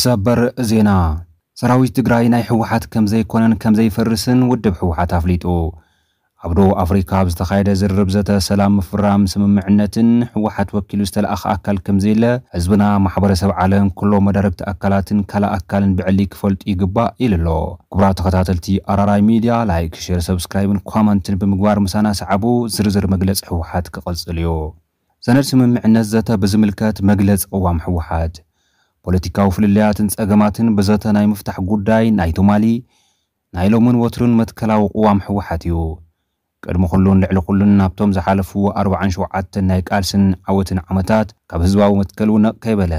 ሰበር ዜና። ሰራዊት ትግራይ ናይ ህወሓት ከም ዘይኮነን ከም ዘይፈርስን ውድብ ህወሓት ኣፍሊጡ። ኣብ ደቡብ ኣፍሪካ ኣብ ዝተኻየደ ዝርርብ ዘተ ሰላም ምፍራም ስምምዕነትን ህወሓት ወኪሉ ዝተለኣኸ ኣካል ከም ዘየለ ህዝብና፣ ማሕበረሰብ ዓለም፣ ኩሎም መዳርግቲ ኣካላትን ካልእ ኣካልን ብዕሊ ክፈልጡ ይግባእ ኢሉ ኣሎ። ክቡራት ተኸታተልቲ ኣራራይ ሚድያ፣ ላይክ፣ ሼር፣ ሰብስክራይብን ኮመንትን ብምግባር ምሳና ሰዓቡ። ዝርዝር መግለፂ ህወሓት ክቕፅል እዩ። ሰነድ ስምምዕነት ዘተ ብዝምልከት መግለፂ ቅዋም ህወሓት። ፖለቲካዊ ፍልልያትን ፀገማትን ብዘተ ናይ ምፍታሕ ጉዳይ ናይ ትማሊ፣ ናይ ሎምን ወትርን መትከላዊ ቅዋም ህወሓት እዩ። ቅድሚ ኩሉን ልዕሊ ኩሉን ናብቶም ዝሓለፉ ኣርባዓን ሸውዓተን ናይ ቃልስን ዓወትን ዓመታት ካብ ህዝባዊ መትከሉ ነቕ ከይበለ፣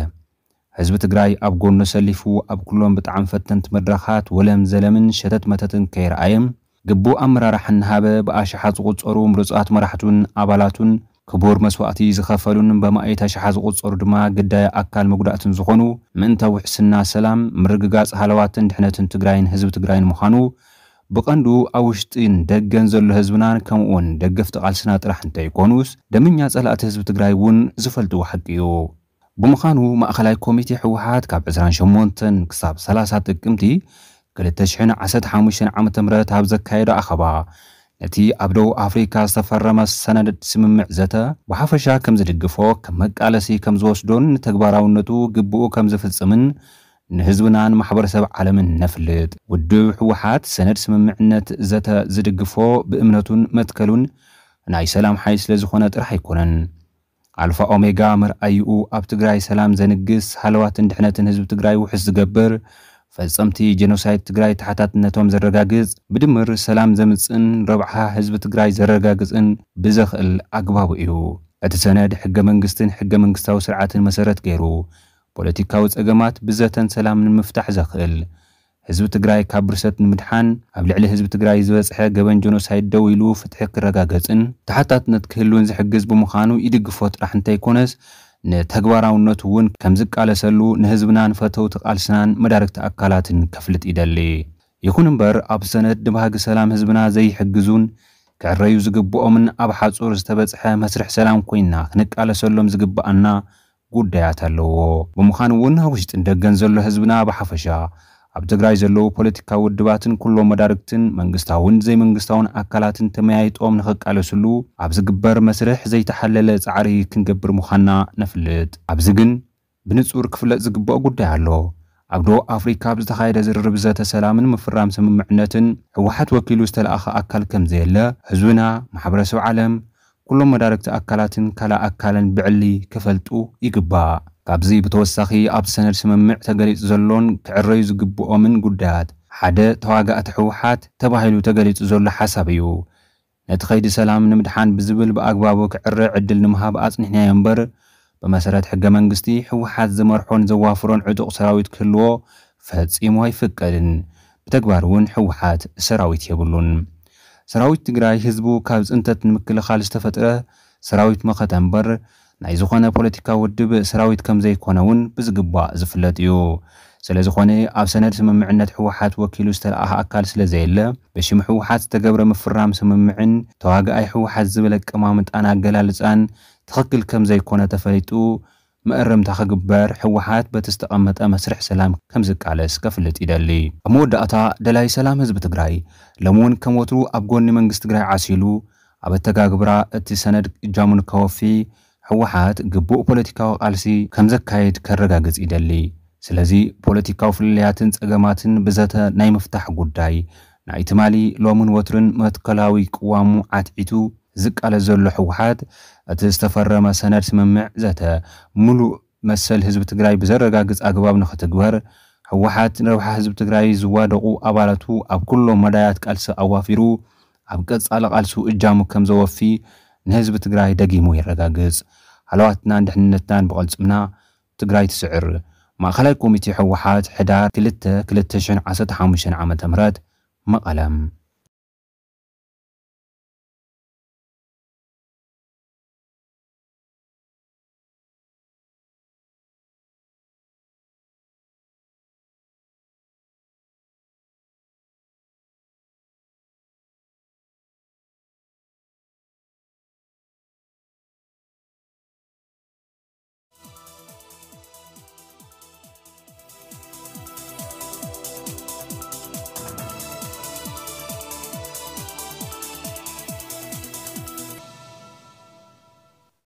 ህዝቢ ትግራይ ኣብ ጎኑ ሰሊፉ ኣብ ኩሎም ብጣዕሚ ፈተንቲ መድረኻት ወለም ዘለምን ሸተት መተትን ከይረኣየ፣ ግቡእ ኣመራርሓ እናሃበ ብኣሽሓት ዝቑጸሩ ምሩጻት መራሕቱን ኣባላቱን ክቡር መስዋእቲ ዝኸፈሉን ብኣማኢት ኣሽሓት ዝቑጸሩ ድማ ግዳይ ኣካል መጉዳእትን ዝኾኑ ምእንተ ውሕስና ሰላም፣ ምርግጋጽ ሃለዋትን ድሕነትን ትግራይን ህዝቢ ትግራይን ምዃኑ ብቐንዱ ኣብ ውሽጥን ደገን ዘሎ ህዝብናን ከምኡውን ደገፍቲ ቃልስና ጥራሕ እንተይኮኑስ ደመኛ ጸላእቲ ህዝቢ ትግራይ እውን ዝፈልጥዎ ሓቂ እዩ። ብምዃኑ ማእኸላይ ኮሚቴ ህወሓት ካብ ዕስራን ሸሞንተን ክሳብ ሰላሳ ጥቅምቲ ክልተ ሽሕን ዓሰርተ ሓሙሽተን ዓመተ ምህረት ኣብ ዘካየዶ ኣኸባ ነቲ ኣብ ደቡብ ኣፍሪካ ዝተፈረመ ሰነድ ስምምዕ ዘተ ብሓፈሻ ከም ዝድግፎ፣ ከም መቃለሲ ከም ዝወስዶን ንተግባራውነቱ ግብኡ ከም ዝፍጽምን ንህዝብናን ማሕበረሰብ ዓለምን ነፍልጥ። ውድብ ህወሓት ሰነድ ስምምዕነት ዘተ ዝድግፎ ብእምነቱን መትከሉን ናይ ሰላም ሓይል ስለ ዝኾነ ጥራሕ ኣይኮነን። ኣልፋ ኦሜጋ መርኣይኡ ኣብ ትግራይ ሰላም ዘንግስ፣ ሃለዋትን ድሕነትን ህዝቢ ትግራይ ውሕስ ዝገብር፣ ፈጸምቲ ጀኖሳይድ ትግራይ ተሓታትነቶም ዘረጋግጽ፣ ብድምር ሰላም ዘምጽእን ረብሓ ህዝቢ ትግራይ ዘረጋግጽን ብዘኽእል ኣግባቡ እዩ። እቲ ሰነድ ሕገ መንግስትን ሕገ መንግስታዊ ስርዓትን መሰረት ገይሩ ፖለቲካዊ ጸገማት ብዘተን ሰላምን ንምፍታሕ ዘኽእል፣ ህዝቢ ትግራይ ካብ ብርሰት ንምድሓን ኣብ ልዕሊ ህዝቢ ትግራይ ዝበጽሐ ገበን ጀኖሳይድ ደው ኢሉ ፍትሒ ክረጋገጽን ተሓታትነት ክህልውን ዝሕግዝ ብምዃኑ ይድግፎ ጥራሕ እንተይኮነስ ንተግባራውነቱ እውን ከም ዝቃለሰሉ ንህዝብናን ፈተውቲ ቃልስናን መዳርግቲ ኣካላትን ከፍልጥ ይደሊ። ይኹን እምበር ኣብ ሰነድ ንባህጊ ሰላም ህዝብና ዘይሕግዙን ክዕረዩ ዝግብኦምን ኣብ ሓጹር ዝተበጽሐ መስርሕ ሰላም ኮይና ክንቃለሰሎም ዝግብኣና ጉዳያት ኣለዎ። ብምዃኑ እውን ኣብ ውሽጥን ደገን ዘሎ ህዝብና ብሓፈሻ ኣብ ትግራይ ዘለዉ ፖለቲካዊ ውድባትን ኩሎም መዳርግትን መንግስታውን ዘይመንግስታውን ኣካላትን ተመያይጦም ንኽቃለስሉ ኣብ ዝግበር መስርሕ ዘይተሓለለ ጻዕሪ ክንገብር ምዃንና ነፍልጥ። ኣብዚ ግን ብንጹር ክፍለጥ ዝግብኦ ጉዳይ ኣሎ። ኣብ ደቡብ ኣፍሪካ ኣብ ዝተኻየደ ዝርርብ ዘተ ሰላምን ምፍራም ስምምዕነትን ህወሓት ወኪሉ ዝተለኣኸ ኣካል ከም ዘየለ ህዝብና፣ ማሕበረሰብ ዓለም፣ ኩሎም መዳርግቲ ኣካላትን ካልእ ኣካልን ብዕሊ ክፈልጡ ይግባእ። ካብዚ ብተወሳኺ ኣብቲ ሰነድ ስምምዕ ተገሊጹ ዘሎን ክዕረዩ ዝግብኦምን ጉዳያት ሓደ ተዋጋእቲ ህወሓት ተባሂሉ ተገሊጹ ዘሎ ሓሳብ እዩ። ነቲ ከይዲ ሰላም ንምድሓን ብዝብል ብኣግባቡ ክዕረ ዕድል ንምሃብ ኣጽኒሕናዮ እምበር ብመሰረት ሕገ መንግስቲ ህወሓት ዝመርሖን ዘዋፍሮን ዕጡቕ ሰራዊት ክህልዎ ፈጺሙ ኣይፍቀድን። ብተግባር እውን ህወሓት ሰራዊት የብሉን። ሰራዊት ትግራይ ህዝቡ ካብ ፅንተት ንምክልኻል ዝተፈጥረ ሰራዊት መኸተ እምበር ናይ ዝኾነ ፖለቲካዊ ውድብ ሰራዊት ከም ዘይኮነ እውን ብዝግባእ ዝፍለጥ እዩ። ስለ ዝኾነ ኣብ ሰነድ ስምምዕነት ህወሓት ወኪሉ ዝተለኣኸ ኣካል ስለ ዘየለ ብሽም ህወሓት ዝተገብረ ምፍራም ስምምዕን ተዋጋኣይ ህወሓት ዝብል ኣቀማምጣን ኣገላልፃን ትኽክል ከም ዘይኮነ ተፈሊጡ መእረምታ ክግበር ህወሓት በቲ ዝተቐመጠ መስርሕ ሰላም ከም ዝቃለስ ከፍልጥ ይደሊ። ኣብ መወዳእታ ደላይ ሰላም ህዝቢ ትግራይ ሎሚ እውን ከም ወትሩ ኣብ ጎኒ መንግስቲ ትግራይ ዓሲሉ ኣብ ኣተጋግብራ እቲ ሰነድ እጃሙ ንከወፊ ህወሓት ግቡእ ፖለቲካዊ ቃልሲ ከም ዘካየድ ከረጋግጽ ይደሊ። ስለዚ ፖለቲካዊ ፍልልያትን ጸገማትን ብዘተ ናይ ምፍታሕ ጉዳይ ናይ ትማሊ ሎምን ወትርን መትከላዊ ቅዋሙ ዓትዒቱ ዝቃለስ ዘሎ ህወሓት እቲ ዝተፈረመ ሰነድ ስምምዕ ዘተ ምሉእ መሰል ህዝቢ ትግራይ ብዘረጋግጽ ኣግባብ ንኽትግበር ህወሓት ንረብሓ ህዝቢ ትግራይ ዝዋደቑ ኣባላቱ ኣብ ኩሎም መዳያት ቃልሲ ኣዋፊሩ ኣብ ቀጻሊ ቃልሱ እጃሙ ከም ዘወፊ ንህዝቢ ትግራይ ደጊሙ የረጋግጽ። ሃለዋትናን ድሕንነትናን ብቐልጽምና ትግራይ ትስዕር። ማእኸላይ ኮሚቴ ህወሓት ሕዳር ክልተ ክልተ ሽሕን ዓሰርተ ሓሙሽተን ዓመተ ምህረት መቐለ።